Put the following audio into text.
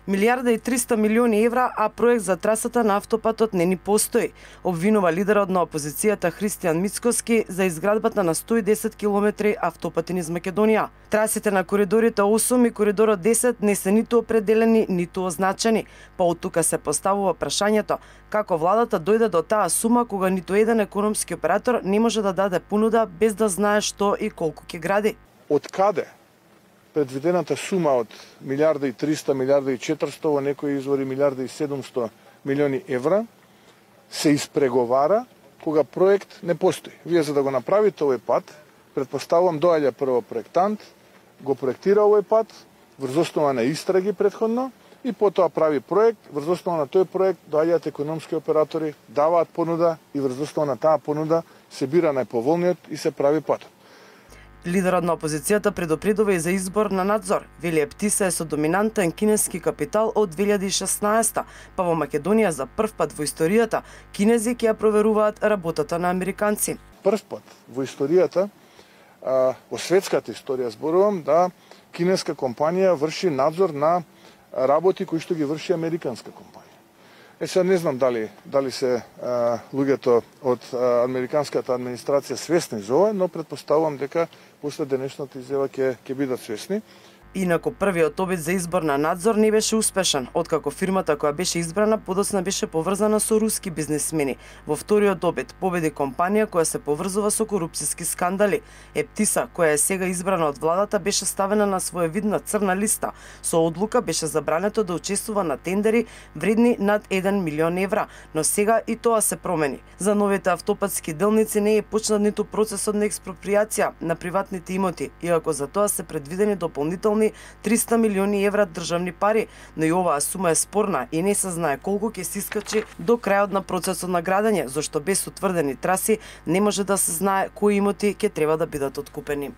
1.300.000.000 евра, а проект за трасата на автопатот не ни постои, обвинува лидерот на опозицијата Христијан Мицкоски за изградбата на 110 километри автопати низ Македонија. Трасите на коридорите 8 и коридорот 10 не се ниту определени, ниту означени, па од тука се поставува прашањето како владата дојде до таа сума кога ниту еден економски оператор не може да даде понуда без да знае што и колку ќе гради. Од каде предвидената сума од 1.300.000.000, 1.400.000.000, во некои извори 1.700.000.000 евра се испреговара кога проект не постои. Вие за да го направите овој пат, предпоставувам доаѓа прво проектант, го проектира овој пат, врз основа на истраги претходно, и потоа прави проект, врз основа на тој проект доаѓаат економски оператори, даваат понуда и врз основа на таа понуда се бира најповолниот и се прави патот. Лидерот на опозицијата предупредува и за избор на надзор. Вели Ептиса е со доминантен кинески капитал од 2016, па во Македонија за прв пат во историјата кинези ќе ја проверуваат работата на американци. Прв пат во историјата, во светската историја зборувам, да кинеска компанија врши надзор на работи кои што ги врши американска компанија. Сега не знам дали се луѓето од американската администрација свесни за ова, но предпоставувам дека после денешната изјава ќе бидат свесни. Инаку првиот обид за избор на надзор не беше успешен, откако фирмата која беше избрана подоцна беше поврзана со руски бизнисмени. Во вториот обид победи компанија која се поврзува со корупциски скандали. Ептиса, која е сега избрана од владата, беше ставена на своевидна црна листа. Со одлука беше забрането да учествува на тендери вредни над 1 милион евра, но сега и тоа се промени. За новите автопатски делници не е почнат ниту процесот на експроприација на приватните имоти, иако за тоа се предвидени дополнителни 300 милиони евра државни пари, но и оваа сума е спорна и не се знае колку ќе се искачи до крајот на процесот на градење, зашто без утврдени траси не може да се знае кои имоти ќе треба да бидат откупени.